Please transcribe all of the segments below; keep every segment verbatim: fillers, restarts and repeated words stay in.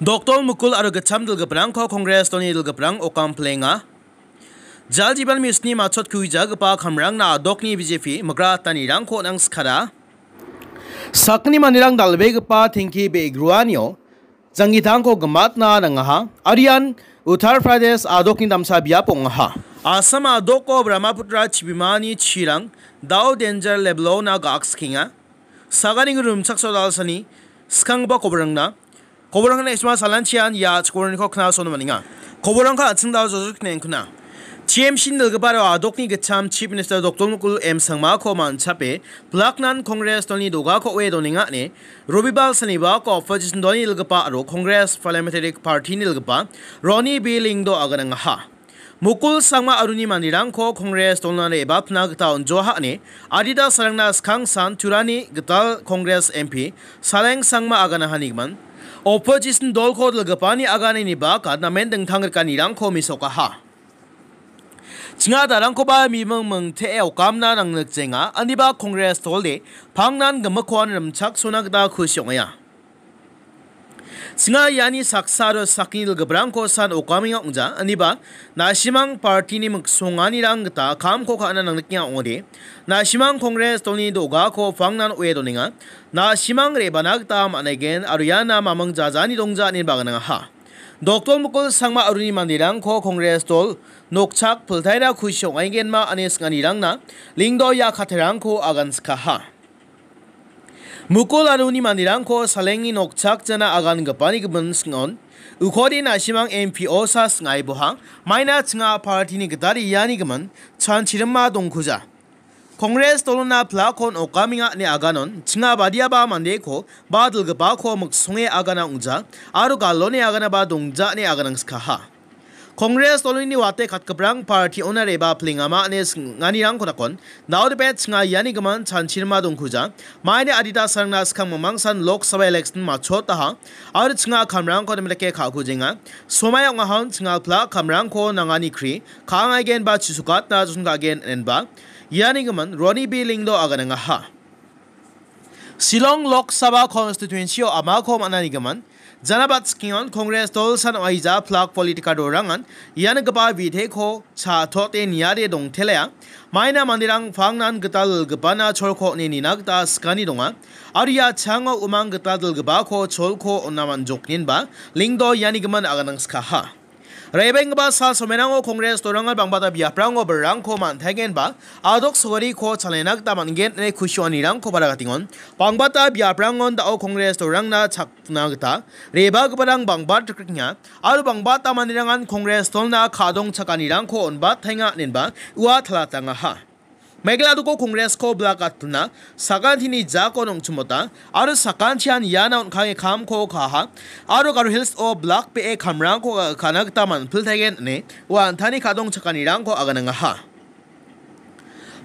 Dokdol Mukul aro gitcham dilgiprangko Kongres dolni dilgiprang okam pilenga. Jal Jiban Mission-ni matchot kuijagipa kamrangna a·dokni B J P migratanirangko nangskara. Sakgni manderang dal·begipa tengki be·gruanio janggitangko gimatna nangaha. Aro ian Uttar Pradesh a·dokni damsa biap ong·aha. Assam a·doko Brahmaputra chibimani chirang dao danger level-ona ga·akskienga. Sagani rimchaksoa dalsani skanggipa koborangna. Koborangna isma salanchian ia chikoroniko knasona maninga. Koborangko an·ching dal josok nengkuna. T M C-ni dilgipa aro a·dokni gitcham Chief Minister Dokdol Mukul M Sangmako manchape pilaknan Kongres dolni dogako oe donenga ine Robibal sanibako opposition dolni dilgipa aro Kongres Parliamentary Party-ni dilgipa Roni B Lyngdoh aganangaha. Mukul Sangma aruni manderangko Kongres dolna re·batna gita on·joaha ine adita sarangna skangsan Turani gital Kongres M P Saleng Sangma aganahanigimin opposition dolko dilgipani aganani baka namen dingtang rikanirangko mesokaha. Ching·a darangkoba miming mingte·e okamna nangnikjenga, aniba Kongres dolde pangnan gimikkoan rimchaksona gita kusi ong·aia. Ching·a iani saksa aro sakni dilgiprangko san okamenga ong·ja, aniba nasimang party-ni miksonganirang gita kamko ka·na nangnikenga ong·ode. Nasimang Kongres dolni dogako pangnan oe donenga. Nasimang re·bana gita man·aigen aro iana maming jajani dongja ineba aganangaha. Dokdol Mukul Sangma aruni manderangko Kongres dol nokchak piltaira kusi ong·aigenma ine sing·anirangna Lyngdoh ia kattarangko aganskaha. Mukul aruni manderangko salengni nokchak jana agangipani gimin sing·on. Ukode nasimang M P osa sing·aiboha, maina ching·a party-ni gitade iani gimin chanchirima dongkuja. Kongres dolona pilakon okamenga ine aganon, ching·a badiaba mandeko ba dilgipako miksonge agana ong·ja, aro galone aganaba dongja ine aganangskaha. Kongres doloni wate katgiprang party-ona re·bapilengama ine sing·anirangko dakon, daode bet ching·a iani gimin chanchirima dongkuja, maina adita sarangna skang mingmangsan Lok Sabha election matchotaha, aro ching·a kamrangko nimdake ka·kujenga, somai ong·ahon ching·a pilak kamrangko nangani kri, ka·angaigen ba chisukatna joson ka·gen inenba, iani gimin Roni B Lyngdoh aganangaha. Shillong Lok Sabha constituency-o amako man·anigimin, janabat skion Kongres dolsan oaija pilak politikadorangan ian gipa bidheko cha·tote niade dongtelea, maina manderang pangnan gital gipana cholko ine nina gita skani donga, aro ia chango umang gital dilgipako cholko on·a man·jokninba Lyngdoh iani gimin aganangskaha. Re·baenggipa sal somerango Kongres dorangan bangbata biaprango birangko man·taigenba a·dok sawariko chalena gita man·gen ine kusionirangko barakatengon. Bangbata biaprangon da·o Kongres dorangna chakna gita re·bagiparang bangbat rikrikenga aro bangbata manderangan Kongres dolna ka·dong chakanirangko on·bataenga inenba ua talatangaha. Meghalaya a·doko Kongresko bilak gatpilna sakantini jako nongchimota aro sakantian iana on·kange kamko ka·aha aro Garo Hills-o bilak be·e kamrangko ka·na gita man·piltaigen ine ua an·tangni ka·dong chakanirangko aganangaha.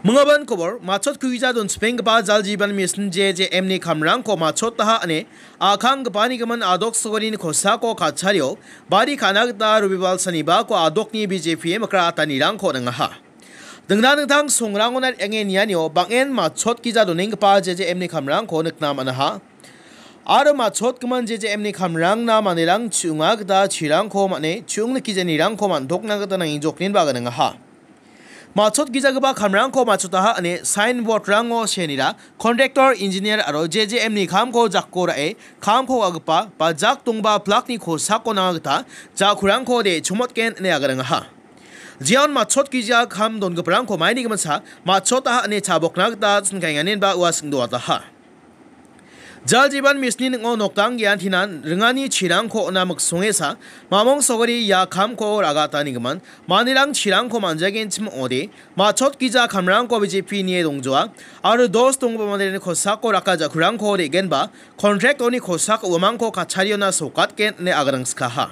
Mingabin kobor, matchot kuija donchipenggipa Jal Jiban Mission J J M-ni kamrangko matchotaha ine a·kanggipaniko a·dok sawarini kosako katchario bari ka·na gita Robibal sanibako a·dokni B J P mikratanirangko nangaha. Dingtang dingtang songrangona re·ange nianio bang·en matchot gija donenggipa J J M-ni kamrangko nikna man·aha. Aro matchotgimin J J M-ni kamrangna manderang chu·onga gita chirangko man·e chu·ong nikijanirangko man·tokna gita nangjokninba aganangaha. Matchot gijagipa kamrangko matchotaha ine signboard-rango seenira contractor, engineer aro J J M-ni kamko jako ra·e kamko ka·gipa ba jak dongba pilakni kosako nanga gita jakurangko de chomotgen ine aganangaha. Jeon matchot gija kam dongiparangko maini giminsa matchotaha ine chabokna gita chingkaenganinba ua singdoataha. Jal Jiban Mission-ni ning·o nokdang geantinan ringani chirangko on·a miksongesa mamong sogari ia kamko ra·gatanigimin manderang chirangko man·jagenchim ong·ode matchot gija kamrangko B J P nie dongjoa aro dos donggipa manderangni kosako raka jakurangko re·genba contract-oni kosako uamangko katchariona sokatgen ine aganangskaha.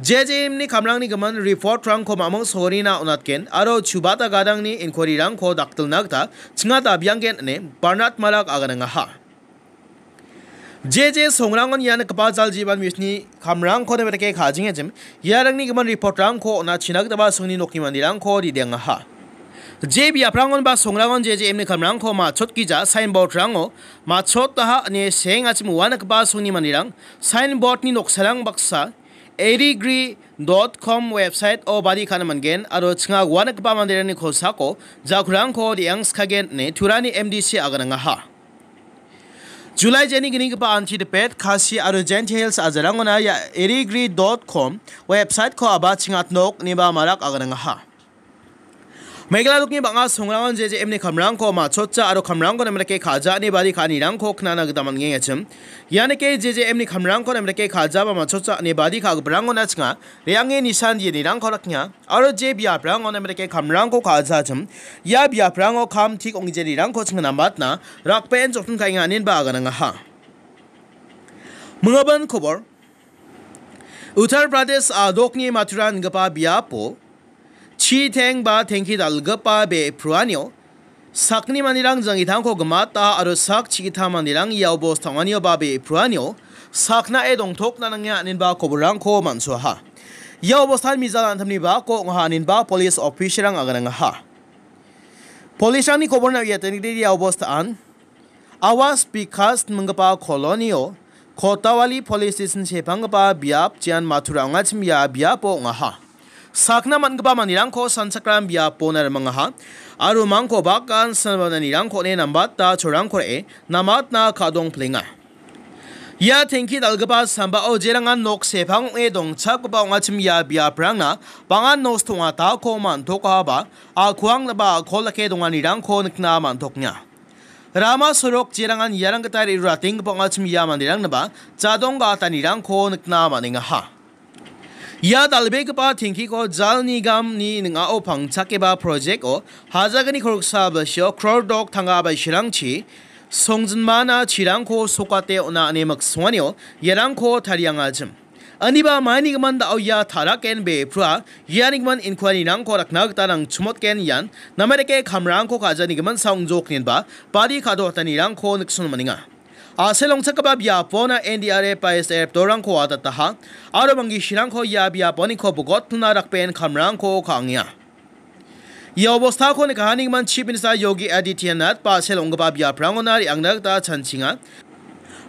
J J M-ni kamrangni gimin report-rangko mamong sorina on·atgen aro chubata gadangni inquiry-rangko dakdilna gita ching·a dabianggen ine Bernard Malak aganangaha. J J songrangon ia nikgipa Jal Jiban Mission-ni kamrangko debeteke ka·jingejim, iarangni gimin report-rangko on·achina gitaba songni nokni manderangko ridengaha. Je biaprangon ba songrangon je je M ni kamrangko matchotgija signboard-rango matchotaha ine seengachim uanakgipa songni manderang signboard-ni noksarang baksa erigree dot com website-o bari ka·na man·gen aro chinga uanakgipa manderangni kosako jakrangko re·angskagen ine Turani M D C aganangaha. July jeni gnigipa anti dipet Khasi aro Jaintia Hills ajarangona ia erigree dot com website-ko aba chingatnok ineba marak aganangaha. Meghalaya dokni bang·a songrangon je je M ni kamrangko matchotja aro kamrangko namreke ka·ja ine bari ka·anirangko knana gita man·gengachim. Ianike je je M ni kamrangko namreke ka·ja ba matchotja ine bari ka·giparangona chinga re·ange nisan dienirangko raknga. Aro je biaprango namreke kamrangko ka·jachim, ia biaprango kam tik ong·genirangko chingna matna rakben jokdon ka·enga inenba aganangaha. Minggimin kobor. Uttar Pradesh a dokni Mathura ingipa biapo chi teng ba tengki dal·gipa be·pruanio sakni manderang jangitangko gimata aro sak chigita manderang ia obos tang·anio ba be·pruanio saknae dongtokna nange aninba koborrangko man·soaha. Ia obostan mijal antamni bako ong·aha aninba polis official-rang aganangaha. Polisrangni koborna uiatengridi ia obostaan Awas Bikas minggipa kolonio Kotawali Police Station sepanggipa biap jean Mathura ong·achim ia biapo ong·aha. Sakna man·gipa manderangko sanchakram biapona rimangaha aro mangko bakan silbananirangko on·e nambata chorangko re·e namatna ka·dongplenga. Ia tengki dal·gipa sambao jerangan nok sepang ong·e dongchakgipa ong·achim ia biaprangna bang·a nosto ong·atako man·tokahaba, a·kuangnaba a·kol dake donganirangko nikna man·toknga. Rama sorok jerangan iarang gita re·ruratenggipao ong·achim ia manderangnaba jadong ga·atanirangko nikna man·engaha. Ia dal·begipa tengkiko Jal Nigamni ning·ao pangchakeba project-o hajagni koroksa bilsio kror dok tangka baisirangchi songjinmana chirangko sokate on·a ine miksonganio iarangko tariangachim. Aniba maini gimin da·o ia taraken be·prua iani gimin inquiry-rangko rakna gita nangchimotgen ian namarike kamrangko ka·jani gimin saongjokninba bari ka·doatanirangko nikson man·enga. A·sel ong·chakgipa biapona N D R F ba S D R F dolrangko watataha aro manggisirangko ia biaponiko bogotna rakben kamrangko ka·angenga. Ia obostako nikahanigimang Chief Minister Yogi Adityanath ba·sel ong·gipa biaprangona re·angna gita chanchinga.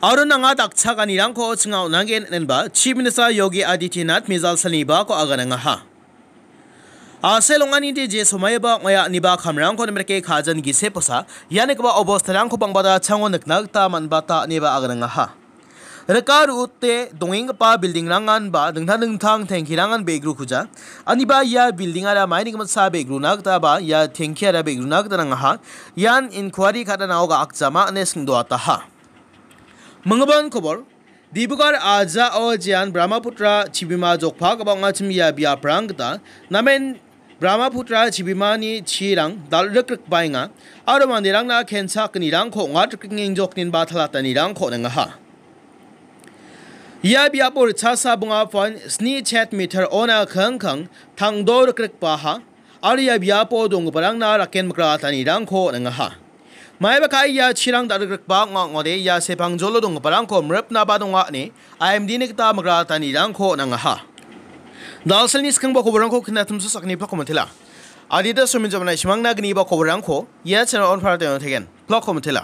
Aro nanga dakchakanirangko chinga on·anggen inenba Chief Minister Yogi Adityanath mijal salnibako aganangaha. A·sel ong·anide je somaioba ong·aia iniba kamrangko nimrike ka·jan giseposa ianigipa obostarangko bangbata chango nikna gita man·bata ineba aganangaha. Rika ru·ute dongenggipa building-rangan ba dingtang dingtang tengkirangan be·grukuja. Aniba ia building-ara maini giminsa be·gruna gita ba ia tengkiara be·gruna gita nangaha. Ian inquiry ka·danao ga·akjama ine singdoataha. Minggimin kobor, Dibrugarh ajao jean Brahmaputra chibima jokpagipa ong·achim ia biaprang gita namen Brahmaputra chibimani chirang dal·rikrikbaenga aro manderangna kenchakgnirangko ong·atrikrikengengjokninba talatanirangko on·engaha. Ia biapo ritchasa bonga point sni chet meter-ona kangkang tangdo rikrikbaha aro ia biapo donggiparangna raken mikratanirangko on·engaha. Maiba ka·e ia chirang dal·rikrikba ong·a ong·ode ia sepangjolo donggiparangko mripnaba donga ine I M D-ni gita mikratanirangko on·engaha. Dalselni skangba koborangko kinatimso sakni plokko mitela. Adita somin jamana isimangna gniba koborangko ia channel on para teng tegen. Plokko mitela.